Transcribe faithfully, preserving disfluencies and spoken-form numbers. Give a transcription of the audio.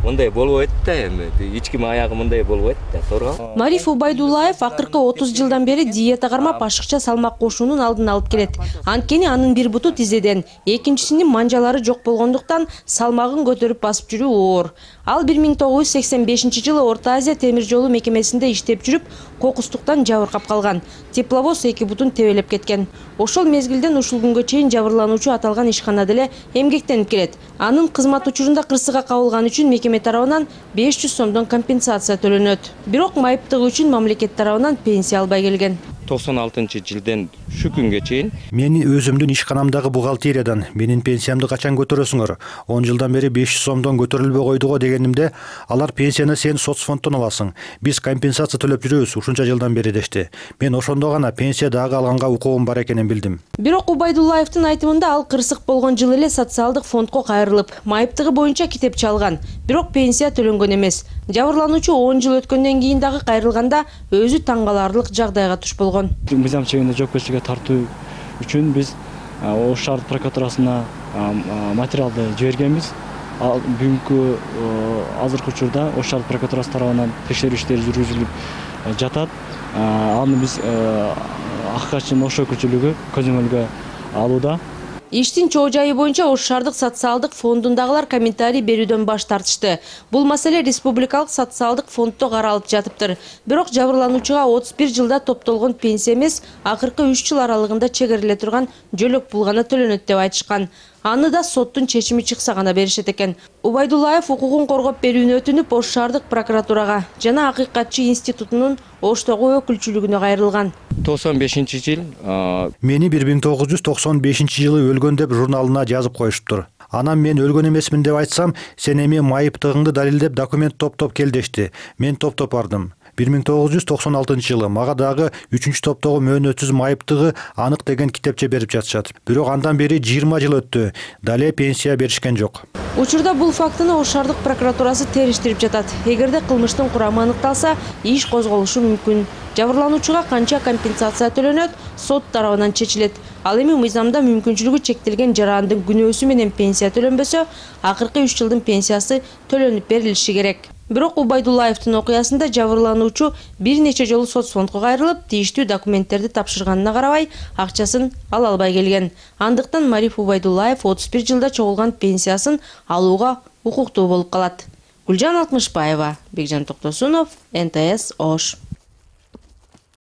мындай болбойт да, эми эч ким аягы мындай болбойт да, туура. Мариф Убайдуллаев акыркы отуз жылдан бери диета кармап ашыкча салмак кошуунун алдын алып келет. Анткени анын бир буту тизеден, экинчисинин манжалары жок болгондуктан салмагын көтөрүп басып жүрүү оор. Ал бир миң тогуз жүз сексен бешинчи жылы Орто Азия темир жолу мекемесинде иштеп жүрүп, кокустуктан жабыркап калган. Тепловоз эки бутун тебелеп кеткен. Ошол мезгилден ушул күнгө чейин жабырлануучу аталган ишканада эле эмгектенип келет. Анын кызмат учурунда кырсыгга кабылган үчүн мекеме тарабынан беш жүз сомдон компенсация төлөнөт. Бирок майыптыгы үчүн мамлекет тарабынан пенсия албай келген. токсон алтынчы жылдан şu күнгө чейин мени өзүмдүн ишканамдагы бухгалтериядан менин пенсиямды качан көтөрөсүңөр? он жылдан бери беш жүз сомдон көтөрүлбөй койду го дегенимде, алар пенсияны сен соцфонддон аласың. Биз компенсация төлөп жүрөбүз ушунча жылдан бери дешти. Мен ошондо гана пенсия дагы алганга укугум бар экенин билдим. Бирок Убайдуллаевдин айтымында ал кырсык болгон жылы эле социалдык фондко кайрылып, майыптыгы боюнча китепчи алган. Бирок пенсия төлөнгөн эмес. Жабырлануучу он жыл өткөндөн кийин дагы кайрылганда өзү таң каларлык жагдайга туш болгон. Мыйзам чегинде жоопкерчиликке тартуу үчүн биз Ош шаардык прокуратурасына материалды жибергенбиз. Бүгүнкү азыркы учурда Ош шаардык прокуратурасы тарабынан текшерүү иштери жүргүзүлүп жатат. Аны биз акчанын Ош өкүлчүлүгү көзөмөлгө алууда. Иштин чоо жайы боюнча Ош шаардык социалдык фондундагылар комментарий берүүдөн баш тартышты. Бул маселе республикалык социалдык фонддо каралып жатыптыр. Бирок жабырлануучуга отуз бир жылда топтолгон пенсия эмес, акыркы үч жыл аралыгында чегериле турган жөлөк пул гана төлөнөт деп айтышкан. Аны да соттун чечими чыкса гана беришет экен. Убайдуллаев укугун коргоп берүүнү өтүнүп Ош шаардык прокуратурага жана Акыйкатчы институтунун Оштогу өкүлчүлүгүнө кайрылган. токсон бешинчи жыл мени бир миң тогуз жүз токсон бешинчи жылы өлгөн деп журналына жазып коюшуптур. Анан мен өлгөн эмесмин деп айтсам, сен эми майыптыгыңды далилдеп документ топтоп кел дешти. Мен топтоп бардым. бир миң тогуз жүз токсон алтынчы жылы мага дагы үчүнчү топтогу мөөнөтсүз майыптыгы анык деген китепче берип жатышат. Бирок андан бери жыйырма жыл өттү. Дале пенсия беришкен жок. Учурда бул фактыны Ош шаардык прокуратурасы териштирип жатат. Эгерде кылмыштын курамы аныкталса, иш козголушу мүмкүн. Жабырлануучуга канча компенсация төлөнөт, сот тарабынан чечилет. Ал эми мыйзамда мүмкүнчүлүгү чектелген жарандын күнөөсү менен пенсия төлөнбөсө, акыркы үч жылдын пенсиясы төлөнүп берилиши керек. Бирок Убайдуллаевдин окуясында жабырлануучу бир нече жолу соцфондко кайрылып, тийиштүү документтерди тапшырганына карабай, акчасын ала албай келген. Андыктан Мариф Убайдуллаев отуз бир жылда чогулган пенсиясын алууга укуктуу болуп калат. Гүлжан Алтмышбаева, Бекжан Токтосунов, эн тэ эс Ош.